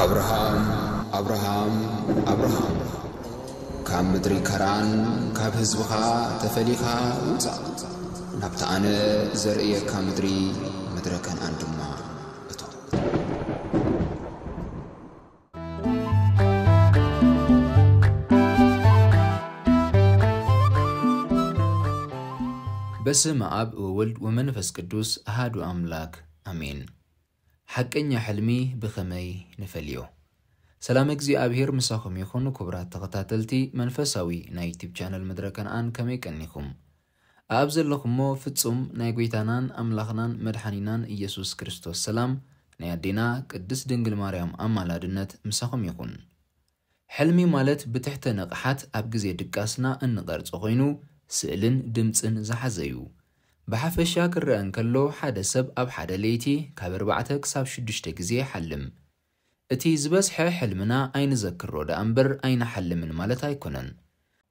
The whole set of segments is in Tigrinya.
ኣብርሃም፣ ኣብርሃም፣ ኣብርሃም፣ ካብ ምድሪ ከራን፣ ካብ ህዝብኻ ተፈሊኻ ውጻእ፣ ናብታ ኣነ ዘርእየካ ምድሪ፣ ምድረ ከነኣን ድማ እቶ። በስመ ኣብ ወወልድ ወመንፈስ ቅዱስ ኣሃዱ ኣምላክ ኣሜን። ሓቀኛ ሕልሚ ብኸመይ ንፈልዮ? ሰላም እግዚኣብሔር ምሳኹም ይኹን። ክቡራት ተኸታተልቲ መንፈሳዊ ናይ ዩቲብ ቻነል ምድረ ከነኣን፣ ከመይ ቀኒኹም? ኣብ ዘለኹሞ ፍጹም ናይ ጐይታናን ኣምላኽናን መድሓኒናን ኢየሱስ ክርስቶስ ሰላም፣ ናይ ኣዴና ቅድስት ድንግል ማርያም ኣማላድነት ምሳኹም ይኹን። ሕልሚ ማለት ብትሕተ ንቕሓት ኣብ ግዜ ድቃስና እንቐርጾ ኾይኑ፣ ስእልን ድምጽን ዝሓዘ እዩ። ብሓፈሻ ክረአ እንከሎ፣ ሓደ ሰብ ኣብ ሓደ ለይቲ ካብ ኣርባዕተ ክሳብ ሽዱሽተ ግዜ ይሓልም። እቲ ዝበዝሐ ሕልምና ኣይንዘክሮ ደኣ እምበር ኣይንሓልምን ማለት ኣይኮነን።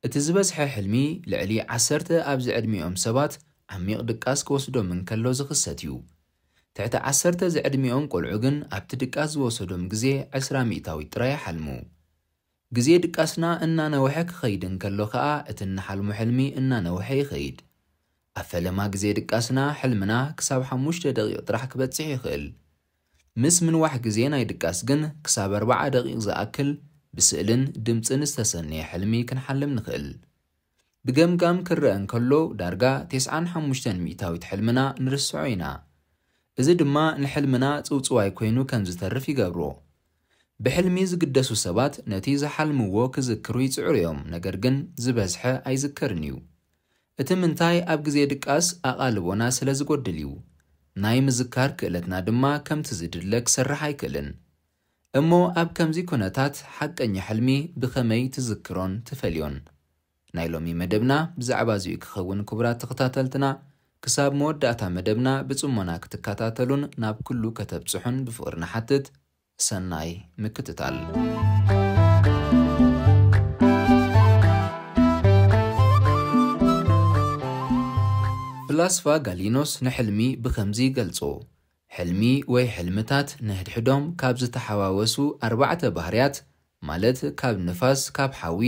እቲ ዝበዝሐ ሕልሚ ልዕሊ ዓሰርተ ኣብ ዝዕድሚኦም ሰባት ዓሚቕ ድቃስ ክወስዶም እንከሎ ዝኽሰት እዩ። ትሕቲ ዓሰርተ ዝዕድሚኦም ቆልዑ ግን ኣብቲ ድቃስ ዝወሰዶም ግዜ ዕስራ ሚእታዊት ጥራይ ይሓልሙ። ግዜ ድቃስና እናነውሐ ክኸይድ እንከሎ ከኣ እቲ እንሓልሞ ሕልሚ እናነውሐ ይኸይድ። ኣብ ፈለማ ግዜ ድቃስና ሕልምና ክሳብ ሓሙሽተ ደቂቕ ጥራሕ ክበጽሕ ይኽእል። ምስ ምንዋሕ ግዜ ናይ ድቃስ ግን ክሳብ ኣርብዓ ደቂቕ ዝኣክል ብስእልን ድምጽን ዝተሰነየ ሕልሚ ክንሓልም ንኽእል። ብገምጋም ክረአ እንከሎ ዳርጋ ተስዓን ሓሙሽተን ሚእታዊት ሕልምና ንርስዖ ኢና። እዚ ድማ ንሕልምና ጽውጽዋይ ኮይኑ ከም ዝተርፍ ይገብሮ። ብሕልሚ ዝግደሱ ሰባት ነቲ ዝሓልምዎ ክዝክሩ ይጽዕሩ እዮም፣ ነገር ግን ዝበዝሐ ኣይዝከርን እዩ። እቲ ምንታይ ኣብ ግዜ ድቃስ ኣቓልቦና ስለ ዝጎድል እዩ። ናይ ምዝካር ክእለትና ድማ ከምቲ ዝድለ ክሰርሕ ኣይክእልን። እሞ ኣብ ከምዚ ኩነታት ሓቀኛ ሕልሚ ብኸመይ ትዝክሮን ትፈልዮን? ናይ ሎሚ መደብና ብዛዕባ እዚኡ ክኸውን፣ ክቡራት ተኸታተልትና፣ ክሳብ መወዳእታ መደብና ብጽሞና ክትከታተሉን ናብ ኩሉ ከተብጽሑን ብፍቕሪ ንሓትት። ሰናይ ምክትታል። ፍላስፋ ጋሊኖስ ንሕልሚ ብኸምዚ ይገልጾ፣ ሕልሚ ወይ ሕልምታት ንሕድሕዶም ካብ ዝተሓዋወሱ ኣርባዕተ ባህርያት፣ ማለት ካብ ንፋስ፣ ካብ ሓዊ፣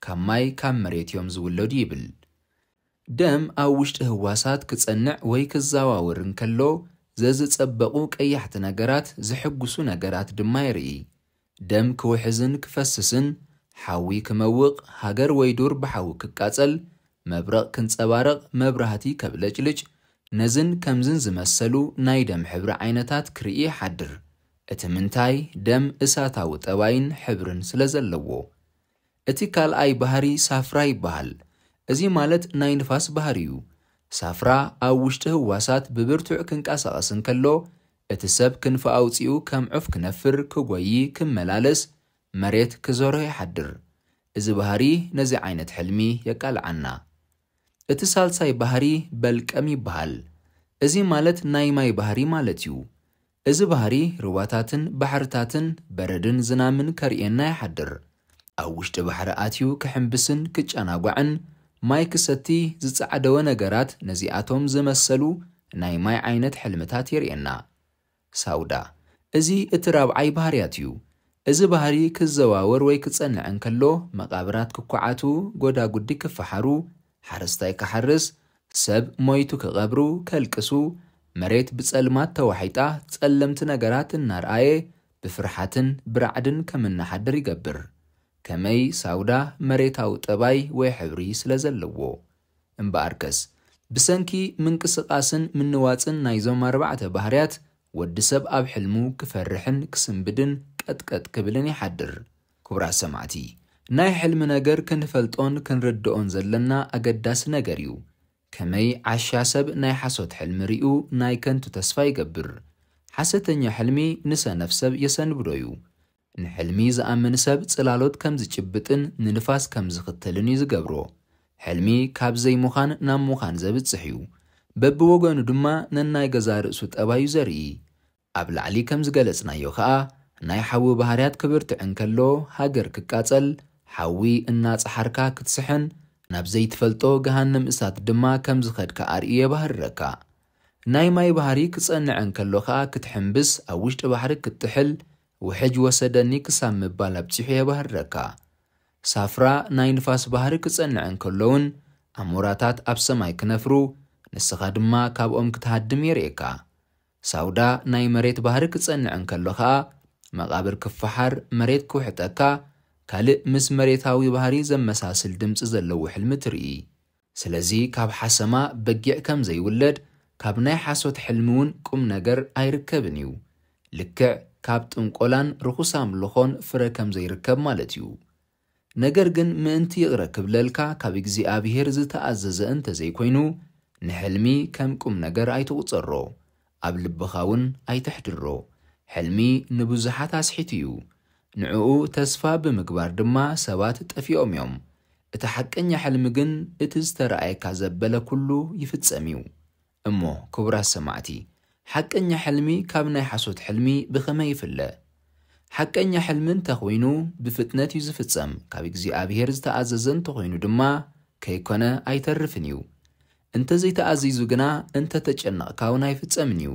ካብ ማይ፣ ካብ መሬት እዮም ዝውለዱ ይብል። ደም ኣብ ውሽጢ ህዋሳት ክጸንዕ ወይ ክዘዋወር እንከሎ፣ ዘዝጸበቑ ቀያሕቲ ነገራት፣ ዝሕጉሱ ነገራት ድማ የርኢ። ደም ክውሕዝን ክፈስስን፣ ሓዊ ክመውቕ፣ ሃገር ወይ ዱር ብሓዊ ክቃጸል፣ መብረቕ ክንጸባረቕ፣ መብራህቲ ከብለጭልጭ፣ ነዝን ከምዝን ዝመሰሉ ናይ ደም ሕብሪ ዓይነታት ክርኢ ይሓድር። እቲ ምንታይ ደም እሳታዊ ጠባይን ሕብርን ስለ ዘለዎ። እቲ ካልኣይ ባህሪ ሳፍራ ይበሃል። እዚ ማለት ናይ ንፋስ ባህሪ እዩ። ሳፍራ ኣብ ውሽጢ ህዋሳት ብብርቱዕ ክንቀሳቐስ እንከሎ፣ እቲ ሰብ ክንፊ ኣውጺኡ ከም ዑፍ ክነፍር፣ ክጎዪ፣ ክመላለስ፣ መሬት ክዞሮ ይሓድር። እዚ ባህሪ ነዚ ዓይነት ሕልሚ የቃልዓና። እቲ ሳልሳይ ባህሪ በልቀም ይበሃል። እዚ ማለት ናይ ማይ ባህሪ ማለት እዩ። እዚ ባህሪ ሩባታትን ባሕርታትን በረድን ዝናምን ከርእየና ይሓድር። ኣብ ውሽጢ ባሕሪ ኣትዩ ክሕምብስን ክጨናጓዕን ማይ ክሰቲ ዝጸዓደወ ነገራት ነዚኣቶም ዝመሰሉ ናይ ማይ ዓይነት ሕልምታት የርእየና። ሳውዳ፣ እዚ እቲ ራብዓይ ባህርያት እዩ። እዚ ባህሪ ክዘዋወር ወይ ክጸንዕ እንከሎ፣ መቓብራት ክኳዓቱ፣ ጎዳጉዲ ክፈሓሩ፣ ሓረስታይ ክሓርስ፣ ሰብ ሞይቱ ክቐብሩ፣ ከልቅሱ፣ መሬት ብጸልማት ተዋሒጣ፣ ጸለምቲ ነገራት እናርኣየ፣ ብፍርሓትን ብራዕድን ከም እናሓድር ይገብር። ከመይ ሳውዳ መሬታዊ ጠባይ ወይ ሕብሪ ስለ ዘለዎ። እምበኣርከስ፣ ብሰንኪ ምንቅስቓስን ምንዋጽን ናይዞም ኣርባዕተ ባህርያት፣ ወዲ ሰብ ኣብ ሕልሙ ክፈርሕን ክስንብድን ቀጥቀጥ ክብልን ይሓድር። ክቡራት ሰማዕቲ፣ ናይ ሕልሚ ነገር ክንፈልጦን ክንርድኦን ዘለና ኣገዳሲ ነገር እዩ። ከመይ ዓሻ ሰብ ናይ ሓሶት ሕልሚ ሪኡ ናይ ከንቱ ተስፋ ይገብር። ሓሰተኛ ሕልሚ ንሰነፍ ሰብ የሰንብዶ እዩ። ንሕልሚ ዝኣምን ሰብ ጽላሎት ከም ዝጭብጥን ንንፋስ ከም ዝኽተልን እዩ ዝገብሮ። ሕልሚ ካብ ዘይምዃን ናብ ምዃን ዘብጽሕ እዩ። በብወገኑ ድማ ነናይ ገዛ ርእሱ ጠባዩ ዘርኢ። ኣብ ላዕሊ ከም ዝገለጽናዮ ከኣ፣ ናይ ሓዊ ባህርያት ክብርትዕ እንከሎ፣ ሃገር ክቃጸል፣ ሓዊ እናጸሓርካ ክትስሕን፣ ናብ ዘይትፈልጦ ገሃነም እሳት ድማ ከም ዝኸድካ ኣርእዩ የባህርረካ። ናይ ማይ ባህሪ ክጸንዕ እንከሎ ኸኣ ክትሕምብስ፣ ኣብ ውሽጢ ባሕሪ ክትጥሕል፣ ውሕጅ ወሰደኒ ክሳብ ምባል ኣብጺሑ የባህርረካ። ሳፍራ ናይ ንፋስ ባህሪ ክጸንዕ እንከሎ እውን፣ ኣሞራታት ኣብ ሰማይ ክነፍሩ፣ ንስኻ ድማ ካብኦም ክትሃድም የርእየካ። ሳውዳ ናይ መሬት ባህሪ ክጸንዕ እንከሎ ኸኣ፣ መቓብር ክፈሓር፣ መሬት ክውሕጠካ፣ ካልእ ምስ መሬታዊ ባህሪ ዘመሳስል ድምጺ ዘለዎ ሕልሚ ትርኢ። ስለዚ ካብ ሓሰማ በጊዕ ከም ዘይውለድ፣ ካብ ናይ ሓሶት ሕልሚ እውን ቁም ነገር ኣይርከብን እዩ። ልክዕ ካብ ጥንቆላን ርኹስ ኣምልኾን ፍረ ከም ዘይርከብ ማለት እዩ። ነገር ግን ምእንቲ ይቕረ ክብለልካ ካብ እግዚኣብሔር ዝተኣዘዘ እንተ ዘይኮይኑ፣ ንሕልሚ ከም ቁም ነገር ኣይትቑጸሮ፣ ኣብ ልብኻ እውን ኣይተሕድሮ። ሕልሚ ንብዙሓት ኣስሒቱ እዩ። ንዕኡ ተስፋ ብምግባር ድማ ሰባት ጠፊኦም እዮም። እቲ ሓቀኛ ሕልሚ ግን እቲ ዝተረኣየካ ዘበለ ኩሉ ይፍጸም እዩ። እሞ ክቡራት ሰማዕቲ፣ ሓቀኛ ሕልሚ ካብ ናይ ሓሶት ሕልሚ ብኸመይ ይፍለ? ሓቀኛ ሕልሚ እንተኾይኑ ብፍጥነት እዩ ዝፍጸም፣ ካብ እግዚኣብሔር ዝተኣዘዘ እንተኾይኑ ድማ ከይኮነ ኣይተርፍን እዩ። እንተዘይተኣዚዙ ግና እንተተጨነቕካ እውን ኣይፍጸምን እዩ።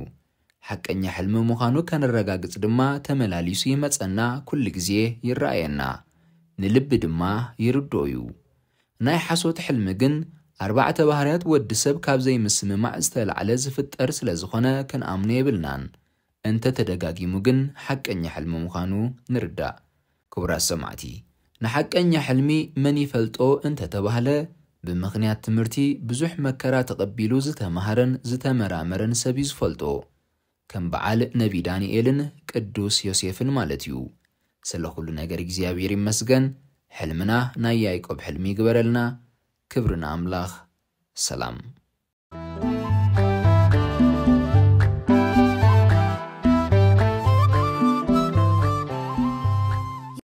ሓቀኛ ሕልሚ ምዃኑ ከነረጋግጽ ድማ ተመላሊሱ ይመጸና፣ ኩሉ ግዜ ይረኣየና፣ ንልቢ ድማ ይርድኦ እዩ። ናይ ሓሶት ሕልሚ ግን ኣርባዕተ ባህርያት ወዲ ሰብ ካብ ዘይምስምማዕ ዝተላዕለ ዝፍጠር ስለ ዝኾነ ክንኣምኖ የብልናን። እንተ ተደጋጊሙ ግን ሓቀኛ ሕልሚ ምዃኑ ንርዳእ። ክቡራት ሰማዕቲ፣ ንሓቀኛ ሕልሚ መን ይፈልጦ እንተ ተባህለ፣ ብምኽንያት ትምህርቲ ብዙሕ መከራ ተቐቢሉ ዝተማህረን ዝተመራመረን ሰብ እዩ ዝፈልጦ። ከም በዓል ነቢ ዳንኤልን ቅዱስ ዮሴፍን ማለት እዩ። ስለ ኩሉ ነገር እግዚኣብሔር ይመስገን። ሕልምና ናይ ያዕቆብ ሕልሚ ይግበረልና። ክብሪ ንኣምላኽ። ሰላም።